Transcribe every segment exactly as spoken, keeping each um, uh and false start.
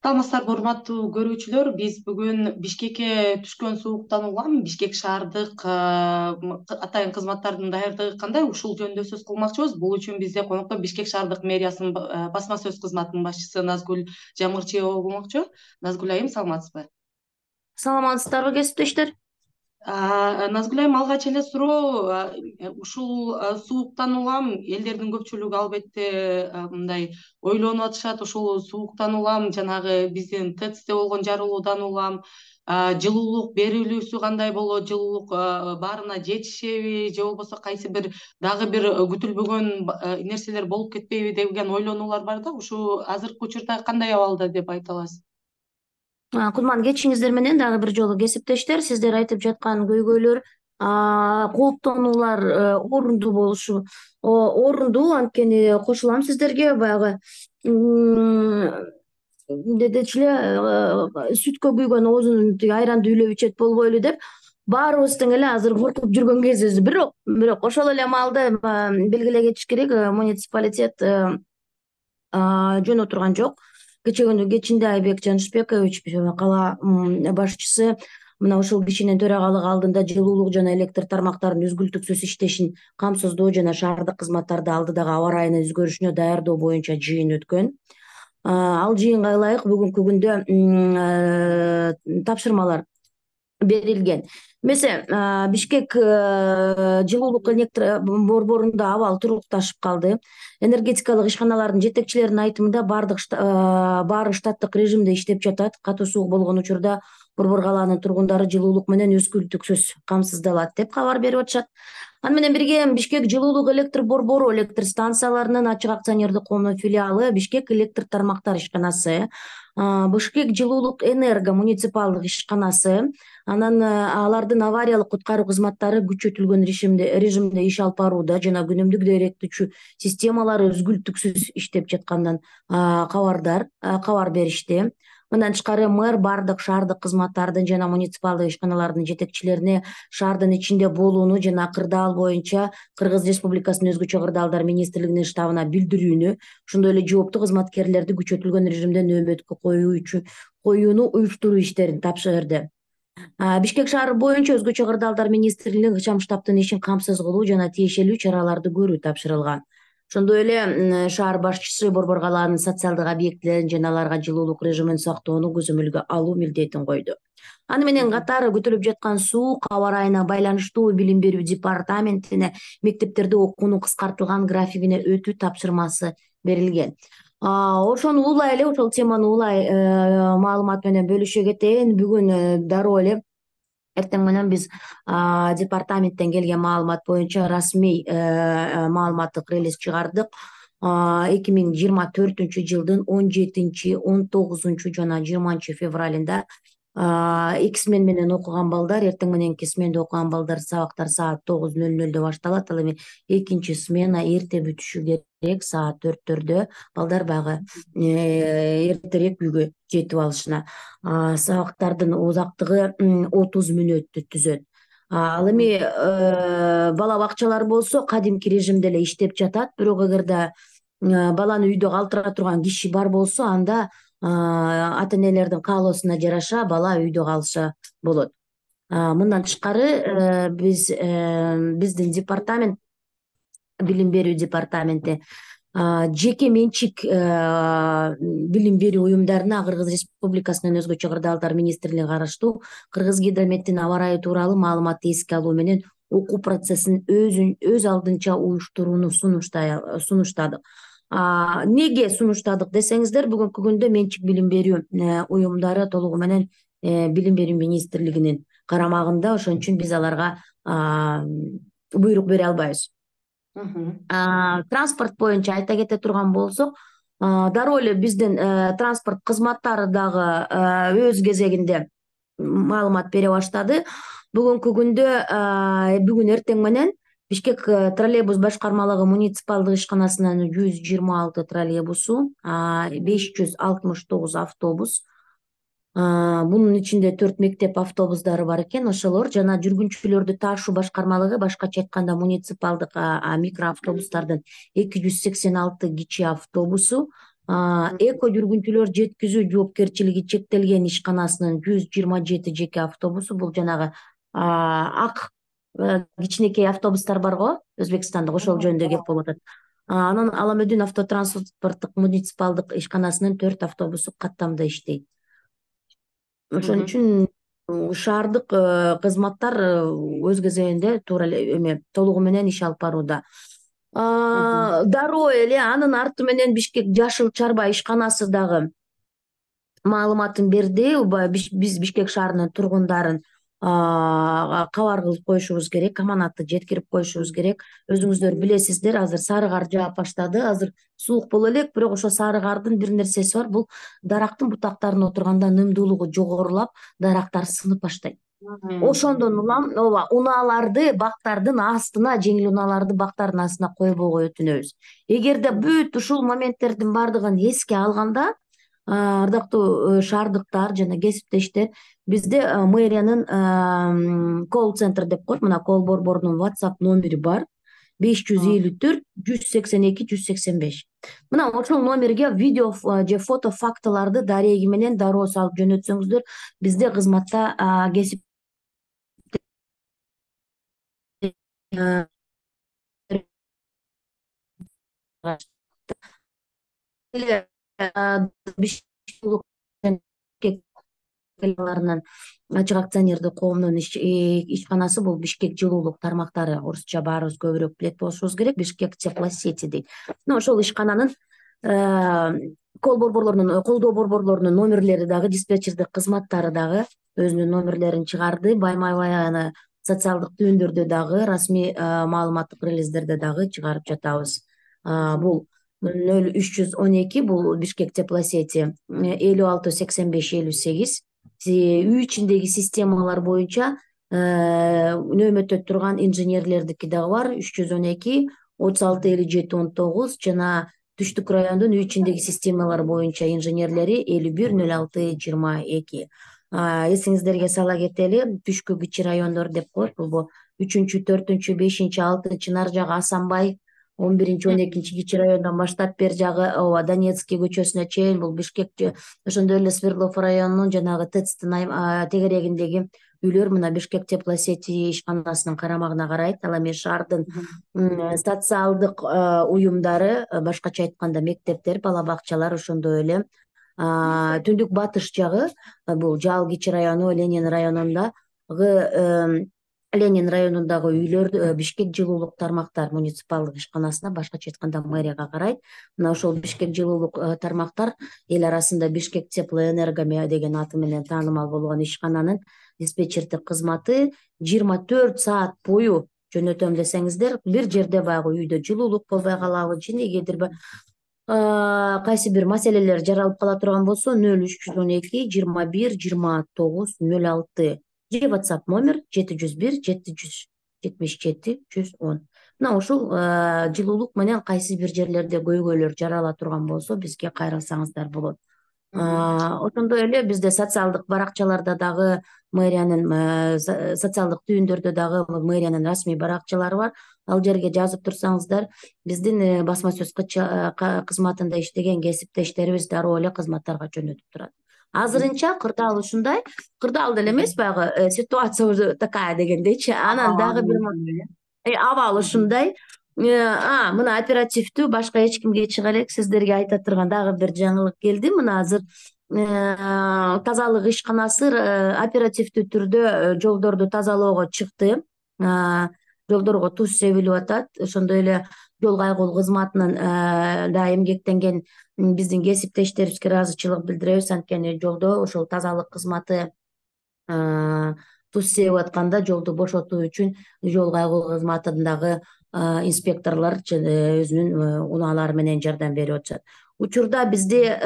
Саламатсыздарбы, урматтуу көрүүчүлөр. Биз бүгүн Бишкекке түшкөн сууктан улам Бишкек шаардык атайын кызматтардын даярдыгы кандай, ушул жөнүндө сөз кылмакчыбыз. Бул үчүн бизде конокто Бишкек шаардык мэриясынын басма сөз кызматынын башчысы Назгүл Жамгырчиева болмокчу. Назгүл айым, саламатсызбы? Саламатсыздарбы, кесиптештер? Назгүл айым, алгач эле суроо, ушул сууктан улам элдердин көпчүлүгү албетте мындай ойлонуп атышат. Ушул сууктан улам жанагы биздин ТЭЦте болгон жарылуудан улам жылуулук берилүүсү кандай болот, жылуулук баарына жетишеби же болбосо кайсы бир дагы бир күтүлбөгөн нерселер болуп кетпейби деген ойлонуулар бар да. Ушу азыркы учурда кандай абалда деп айта аласыз? Кутман кечиңиздер менен дагы бир жолу, кесиптештер. Сиздер айтып жаткан көйгөйлөр, кооптонуулар орундуу болушу орундуу, анткени кошулам сиздерге. Баягы дедичи эле сүткө күйгөн оозун тиги айранды үйлөп ичет болбойлу деп баарыбыз тең эле азыр коркуп жүргөн кезибиз. Бирок бирок ошол эле маалда белгилей кетиш керек, муниципалитет жөн отурган жок. Кечээ күнү кечинде Айбек Жанышбекович, кала башчысы, мына ушул кишинин төрагалыгы алдында жылуулук жана электр тармактарынын үзгүлтүксүз иштешин камсыздоо жана шаардык кызматтарды алдыдагы аба ырайынын өзгөрүшүнө даярдоо боюнча жыйын өткөн. Ал жыйынга ылайык бүгүнкү күндө тапшырмалар берилген. Мисалы, Бишкек жылуулук электр борборунда абал турукташып калды. Энергетикалык ишканалардын жетекчилеринин айтымында бардык баары штаттык режимде иштеп жатат. Катуу суук болгон учурда борбор калаанын тургундары жылуулук менен үзгүлтүксүз камсыздалат деп кабар берип атышат. Аны менен бирге Бишкек жылуулук электр борбору электр станцияларынын ачык акционердик коомунун филиалы Бишкек электр тармактар ишканасы, Бишкек жылуулук энерго муниципалдык ишканасы, анан алардын авариялык куткаруу кызматтары күчөтүлгөн режимде иш алып барууда жана күнүмдүк даректүүчү системалары үзгүлтүксүз иштеп жатканынан кабардар кабар беришти. Мындан тышкары мэр бардык шаардык кызматтардын жана муниципалдык ишканалардын жетекчилерине шаардын ичинде болууну жана кырдаал боюнча Кыргыз Республикасынын өзгөчө кырдаалдар министрлигинин штабына билдирүүнү, ошондой эле жооптуу кызматкерлерди күчөтүлгөн режимде нөөбөткө коюуну уюштуруу иштерин тапшырды. Бишкек шаары боюнча өзгөчө кырдаалдар министрлигине ыкчам штабтын ишин камсыз кылуу жана тиешелүү чараларды көрүү тапшырылган. Ошондой эле шаар башчысы борбор калаанын социалдык объектилерин жана аларга жылуулук режимин сактоону көзөмөлгө алуу милдетин койду. Аны менен катары күтүлүп жаткан суук аба ырайына байланыштуу билим берүү департаментине мектептерде окуунун кыскартылган графигине өтүү тапшырмасы берилген. Ошону улай эле, ошол теманы улай маалымат менен бөлүшө кетейин. Бүгүн дароо эле эртең менен биз департаменттен келген маалымат боюнча расмий маалыматтык релиз чыгардык. эки миң жыйырма төртүнчү жылдын он жетинчи, он тогузунчу жана жыйырманчы февралында эки смен менен окуган балдар, эртең мененки сменде окуган балдар сабактар саат тогуз нөл нөлдө башталат. Ал эми экинчи смена эрте бүтүшү керек, саат төрттөрдө балдар баягы эртерээк үйгө жетип алышына. Сабактардын узактыгы отуз мүнөттү түзөт. Ал эми бала бакчалар болсо кадимки режимде эле иштеп жатат, бирок эгерде баланы үйдө калтыра турган киши бар болсо, анда ата энелердин каалоосуна жараша бала үйдө калса болот. Мындан тышкары биз биздин департамент, билим берүү департаменти жеке менчик билим берүү уюмдарына Кыргыз Республикасынын өзгөчө кырдаалдар министрлигине караштуу Кыргызгидрометтин аба ырайы тууралуу маалыматты эске алуу менен окуу процессин өз алдынча уюштурууну сунуштадык. Неге сунуштадык десеңиздер, бүгүнкү күндө менчик билим берүү уюмдары толугу менен билим берүү министрлигинин карамагында, ошон үчүн биз аларга буйрук бере албайбыз. Транспорт боюнча айта кете турган болсок, дароо эле биздин транспорт кызматтары дагы өз кезегинде маалымат бере баштады. Бүгүнкү күндө бүгүн эртең менен Бишкек троллейбус башкармалыгы муниципалдык ишканасынын жүз жыйырма алты троллейбусу, беш жүз алтымыш тогуз автобус, Мунун ичинде төрт мектеп автобустары бар экен, ошолор жана жүргүнчүлөрдү таашуу башкармалыгы, башкача айтканда муниципалдык микроавтобустардын эки жүз сексен алты кичи автобусу, эко жүргүнчүлөр жеткизүү жоопкерчилиги чектелген ишканасынын жүз жыйырма жети жеке автобусу, бул жанагы ак кичинекей автобустар бар го Өзбекстанда, ошол жөнүндө кеп болуп атат. Анан Аламөдүн автотранспорттук муниципалдык ишканасынын төрт автобусу каттамда иштейт. Ошон үчүн шаардык кызматтар өз кезегинде туура эле эме толугу менен иш алып барууда. Дароо эле анын арты менен Бишкек Жашыл Чарба ишканасы дагы маалыматын берди. Биз Бишкек шаарынын тургундарын кабар кылып коюшубуз керек, аманатты жеткирип коюшубуз керек. Өзүңүздөр билесиздер, азыр сары кар жаап баштады. Азыр суук боло элек, бирок ошо сары кардын бир нерсеси бар, бул дарактын бутактарына отурганда нымдуулугу жогорулап, дарактар сынып баштайт. Ошондон улам ооба унааларды бактардын астына, жеңил унааларды бактардын астына койбогой өтүнөбүз. Эгерде бүт ушул моменттердин баардыгын эске алганда, ардактуу шаардыктар жана кесиптештер, бизде мэриянын колл-центр деп коет, мына колл борборунун WhatsApp номери бар: беш жүз элүү төрт жүз сексен эки жүз сексен беш. Мына ошол номерге видео же фото фактыларды дареги менен дароо салып жөнөтсөңүздөр, бизде кызматта кесип ачык акционердик коомунун ишканасы бул Бишкек жылуулук тармактары, орусча баарыбыз көбүрөөк билет болушубуз керек, Бишкек теплосети дейт. Ошол ишкананын колл борборлорунун, колдоо борборлорунун номерлери дагы, диспетчердик кызматтары дагы өзүнүн номерлерин чыгарды. Баймай-Баяны социалдык түйүндөрдө дагы, расмий маалыматтык релиздерде дагы чыгарып жатабыз. Бул нөл үч жүз он эки, бул Бишкек теплосети, элүү алты сексен беш элүү сегиз. Үй ичиндеги системалар боюнча нөөмөттө турган инженерлердики дагы бар: үч жүз он эки отуз алты элүү жети он тогуз, жана Түштүк райондун үй ичиндеги системалар боюнча инженерлери элүү бир нөл алты жыйырма эки. Эсиңиздерге сала кетели, түшкү кичи райондор деп коет. Бул үчүнчү, төртүнчү, бешинчи, алтынчы, нар жагы Асанбай, он биринчи, он экинчи кичи райондон баштап бер жагы ооба Донецкий көчөсүнө чейин, бул Бишкек, ошондой эле Свердлов районунун жанагы ТЭЦтин тегерегиндеги үйлөр мына Бишкек теплосети ишканасынын карамагына карайт. Ал эми шаардын социалдык уюмдары, башкача айтканда мектептер, бала бакчалар, ошондой эле түндүк батыш жагы, бул Жал кичи району, Ленин районундагы Ленин районундагы үйлөр Бишкек жылуулук тармактар муниципалдык ишканасына, башкача айтканда мэрияга карайт. Мына ошол Бишкек жылуулук тармактар эл арасында Бишкек теплоэнерго деген аты менен таанымал болгон ишкананын диспетчердик кызматы жыйырма төрт саат бою жөнөтөм десеңиздер, бир жерде баягы үйдө жылуулук болбой калабы, же негедир кайсы бир маселелер жаралып кала турган болсо, нөл үч жүз он эки жыйырма бир жыйырма тогуз нөл алты же WhatsApp номер жети жүз бир жети жүз жетимиш жети жүз он. Мына ушул жылуулук менен кайсы бир жерлерде көйгөйлөр жарала турган болсо, бизге кайрылсаңыздар болот. Ошондой эле бизде социалдык баракчаларда дагы мэриянын, социалдык түйүндөрдө дагы мэриянын расмий баракчалары бар. Ал жерге жазып турсаңыздар, биздин басма сөз кызматында иштеген кесиптештерибиз дароо эле кызматтарга жөнөтүп турат. Азырынча кырдаал ушундай, кырдаал деле эмес, баягы ситуация уже такая дегендейчи. Анан дагы бир абал ушундай. Мына оперативдүү, башка эч кимге чыга элек, сиздерге айта турган дагы бир жаңылык келди. Мына азыр тазалык ишканасы оперативдүү түрдө жолдорду тазалоого чыкты. Жолдорго туз себилип атат. Ошондой эле жол кайгылуу кызматынын да эмгектенген биздин кесиптештерибизге ыраазычылык билдиребиз. Анткени жолдо ошол тазалык кызматы туз себип атканда жолду бошотуу үчүн жол кайгылуу кызматындагы инспекторлор өзүнүн унаалары менен жардам берип атышат. Учурда бизде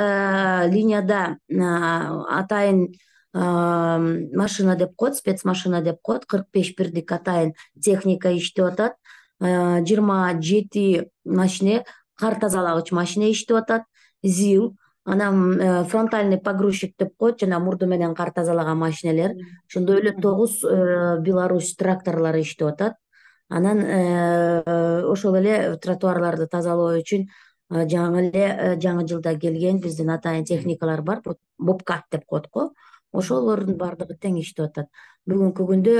линияда атайын машина деп коет, спецмашина деп коет, кырк беш бирдик атайын техника иштеп атат. жыйырма жети машине, кар тазалагыч машине иштеп атат. ЗИЛ, анан фронтальный погрузчик деп коет, жана мурду менен кар тазалаган машинелер. Ошондой эле тогуз Беларусь тракторлору иштеп атат. Анан ошол эле тротуарларды тазалоо үчүн жаңы эле жаңы жылда келген биздин атайын техникалар бар, бобкат деп коет го. Ошолордун баардыгы тең иштеп атат. Бүгүнкү күндө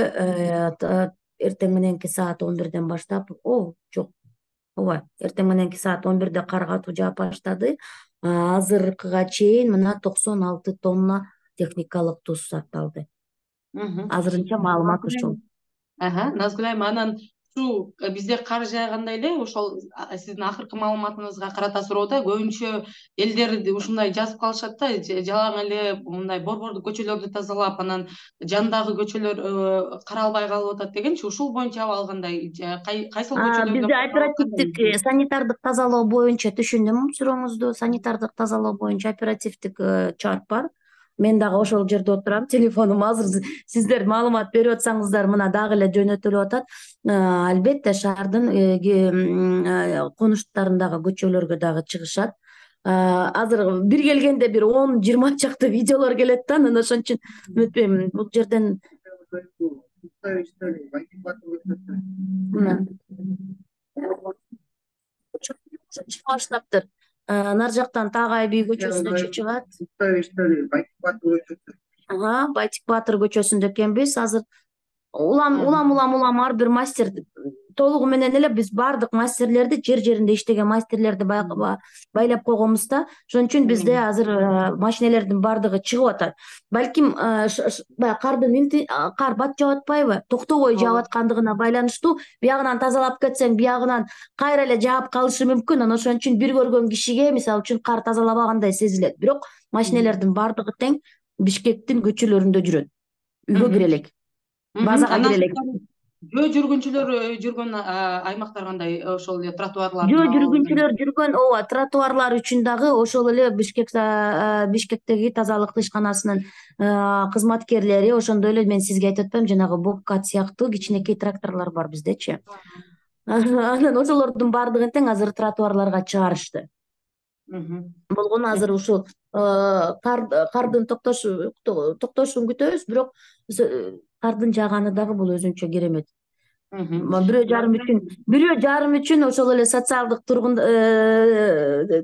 эртең мененки саат он бирден баштап, о, жок, ооба, эртең мененки саат он бирде кар катуу жаап баштады. Азыркыга чейин мына токсон алты тонна техникалык туз сатталды. Азырынча маалымат ушул. Назгүл айым, анан ушу бизде кар жаагандай эле, ошол сиздин акыркы маалыматыңызга карата суроодо көбүнчө элдер ушундай жазып калышат да, жалаң эле мындай борбордук көчөлөрдү тазалап, анан жандагы көчөлөр каралбай калып атат дегенчи, ушул боюнча абал кандай? Кайсыл көчөлөрдө? Бизде оперативдик санитардык тазалоо боюнча түшүндүм сурооңузду. Санитардык тазалоо боюнча оперативдик чарт бар. Мен дагы ошол жерде отурам, телефонум азыр сиздер маалымат берип атсаңыздар мына дагы эле жөнөтүлүп атат. Албетте шаардын конуштарындагы көчөлөргө дагы чыгышат. Азыр бир келгенде бир он жыйырма чакты видеолор келет да, анан ошон үчүн өтпөйм. Бул жерден чыга баштаптыр. Нар жактан Тагай бий көчөсүнө чыгат. Байтик Баатыр көчөсүндө экенбиз. Азыр улам улам улам улам ар бир мастер толугу менен эле биз баардык мастерлерди, жер жеринде иштеген мастерлерди байлап койгонбуз да. Ошон үчүн бизде азыр машинелердин баардыгы чыгып атат. Балким баягы кардын кар бат жаап атпайбы, токтобой жаап аткандыгына байланыштуу. Биягынан тазалап кетсең, биягынан кайра эле жаап калышы мүмкүн. Анан ошон үчүн бир көргөн кишиге мисалы үчүн кар тазалабагандай сезилет. Бирок машинелердин баардыгы тең Бишкектин көчөлөрүндө жүрөт. Үйгө кире элек. Базага кире элек. Жөө жүргүнчүлөр жүргөн аймактар кандай? Ошол эле тротуарлар. Жөө жүргүнчүлөр жүргөн, ооба, тротуарлар үчүн дагы ошол эле Бишкек Бишкектеги тазалык ишканасынын кызматкерлери, ошондой эле мен сизге айтып атпаймынбы, жанагы бобкат сыяктуу кичинекей тракторлор бар биздечи. Анан ошолордун баардыгын тең азыр тротуарларга чыгарышты. Болгону азыр ушул кардын токтошун күтөбүз, бирок кардын жааганы дагы бул өзүнчө керемет. Бирөө жарым үчүн, бирөө жарым үчүн ошол эле социалдык тургун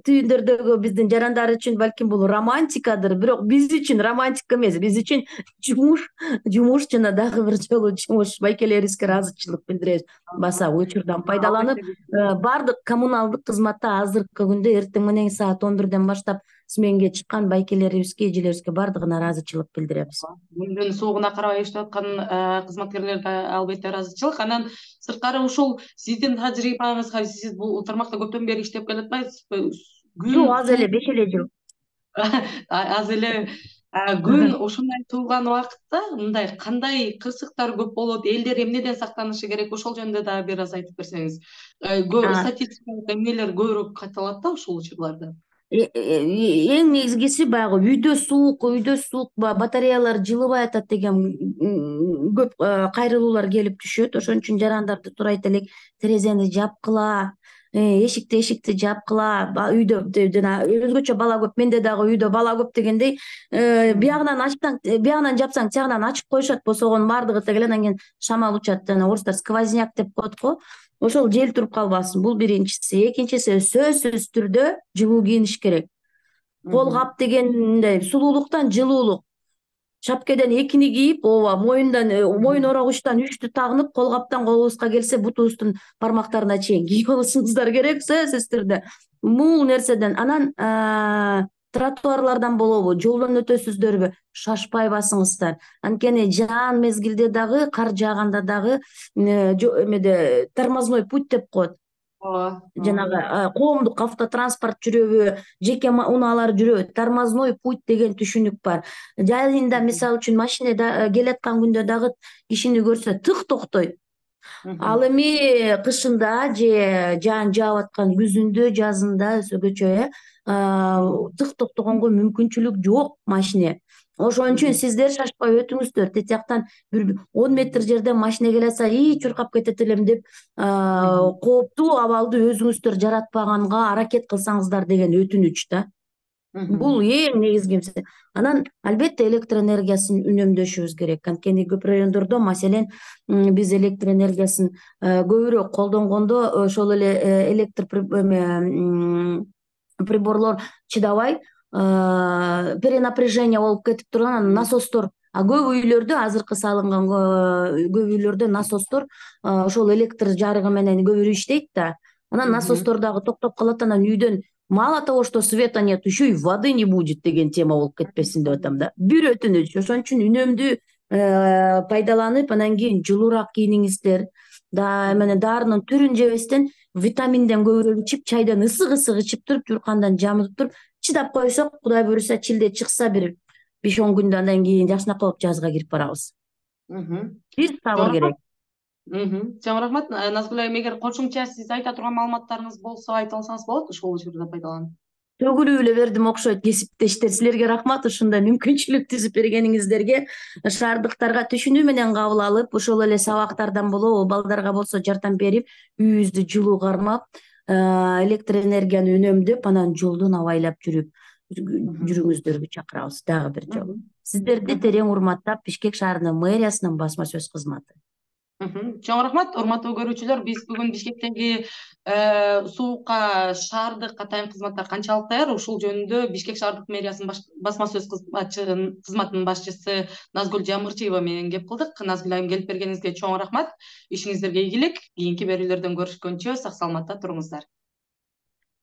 түйүндөрдөгү биздин жарандар үчүн балким бул романтикадыр, бирок биз үчүн романтика эмес, биз үчүн жумуш, жумуш жана дагы бир жолу жумуш. Байкелерибизге ыраазычылык билдиребиз. Баса учурдан пайдаланып, баардык коммуналдык кызматта азыркы күндө эртең менен саат он бирден баштап сменге чыккан байкелерибизге, эжелерибизге баардыгына ыраазычылык билдиребиз. Күндүн суугуна карабай иштеп аткан кызматкерлерге албетте ыраазычылык. Анан сырткары ушул сиздин тажрыйбаңызга, сиз бул тармакта көптөн бери иштеп келатпайсызбы? Жок, аз эле, беш эле жыл. Аз эле. Күн ушундай туулган убакытта мындай кандай кырсыктар көп болот, элдер эмнеден сактанышы керек, ошол жөнүндө дагы бир аз айтып берсеңиз. Статистикалык эмнелер көбүрөөк катталат да ушул учурларда? Эң негизгиси баягы үйдө суук, үйдө суук батареялар жылыбай атат деген көп кайрылуулар келип түшөт. Ошон үчүн жарандарды сурайт элек, терезени жапкыла, эшикти эшикти жапкыла. Үйдө жана өзгөчө бала көп, менде дагы үйдө бала көп дегендей, биягынан ачсаң, биягынан жапсаң, тиягынан ачып коюшат, босогонун баардыгы тегеле, анан кийин шамал учат, жана орустар сквозняк деп коет го. Ошол жел туруп калбасын. Бул биринчиси. Экинчиси, сөзсүз түрдө жылуу кийиниш керек. Кол кап дегенде сулуулуктан жылуулук. Шапкеден экини кийип, ооба, моюндан, моюн орогучтан үчтү тагынып, кол каптан колубузга келсе бутубуздун бармактарына чейин кийип алышыбыздар керек, сөзсүз түрдө. Бул нерседен анан тротуарлардан болобу, жолдон өтөсүздөрбү, шашпай басыңыздар. Анткени жаан мезгилде дагы, кар жааганда дагы эмеде тормозной путь деп коет. Жанагы коомдук автотранспорт жүрөбү, жеке унаалар жүрөбү, тормозной путь деген түшүнүк бар. Жайында мисалы үчүн машинеде келаткан күндө дагы кишини көрсө тык токтой. Ал эми кышында же жаан жаап аткан күзүндө, жазында өзгөчө тык токтогонго мүмкүнчүлүк жок машине. Ошон үчүн сиздер шашпай өтүңүздөр. Тет жактан бир он метр жерден машине келатса, ий чуркап кетет элем деп кооптуу абалды өзүңүздөр жаратпаганга аракет кылсаңыздар деген өтүнүч да. Бул эң негизгиси. Анан албетте электр энергиясын үнөмдөшүбүз керек. Анткени көп райондордо, маселен, биз электр энергиясын көбүрөөк колдонгондо ошол эле электр приборлор чыдабай перенапряжение болуп кетип турган, анан насостор, а көп үйлөрдө азыркы салынган көп үйлөрдө насостор ошол электр жарыгы менен көп иштейт да, анан насостор дагы токтоп калат, анан үйдөн мало того, что света нет, еще и воды не будет деген тема болуп кетпесин деп атам да. Бир өтүнүч, ошон үчүн үнөмдүү пайдаланып, анан кийин жылуураак кийиниңиздер, да эмне дарынын түрүн жебестен витаминден көбүрөөк ичип, чайдан ысык ысык ичип туруп, журкандан жамытып туруп чыдап койсок, Кудай буюрса чилде чыкса бир беш он күндөн андан кийин жакшынакай болуп жазга кирип барабыз. Бир сабыр керек. Чоң рахмат. Назгүл айым, эгер кошумча сиз айта турган маалыматтарыңыз болсо айта алсаңыз болот, ушул учурда пайдаланып. Төгүлүп эле бердим окшойт кесиптештер. Силерге рахмат ушундай мүмкүнчүлүк түзүп бергениңиздерге. Шаардыктарга түшүнүү менен кабыл алып, ошол эле сабактардан болобу, балдарга болсо жардам берип, үйүбүздү жылуу кармап, электр энергияны үнөмдөп, анан жолдон абайлап жүрүп жүрүңүздөргө чакырабыз дагы бир жолу. Сиздерди терең урматтап, Бишкек шаарынын мэриясынын басма сөз кызматы. Чоң рахмат, урматтуу көрүүчүлөр. Биз бүгүн Бишкектеги суукка шаардык атайын кызматтар канчалык даяр, ушул жөнүндө Бишкек шаардык мэриясынын басма сөз кызматынын башчысы Назгүл Жамырчиева менен кеп кылдык. Назгүл айым, келип бергениңизге чоң рахмат. Ишиңиздерге ийгилик. Кийинки берүүлөрдөн көрүшкөнчө сак саламатта туруңуздар.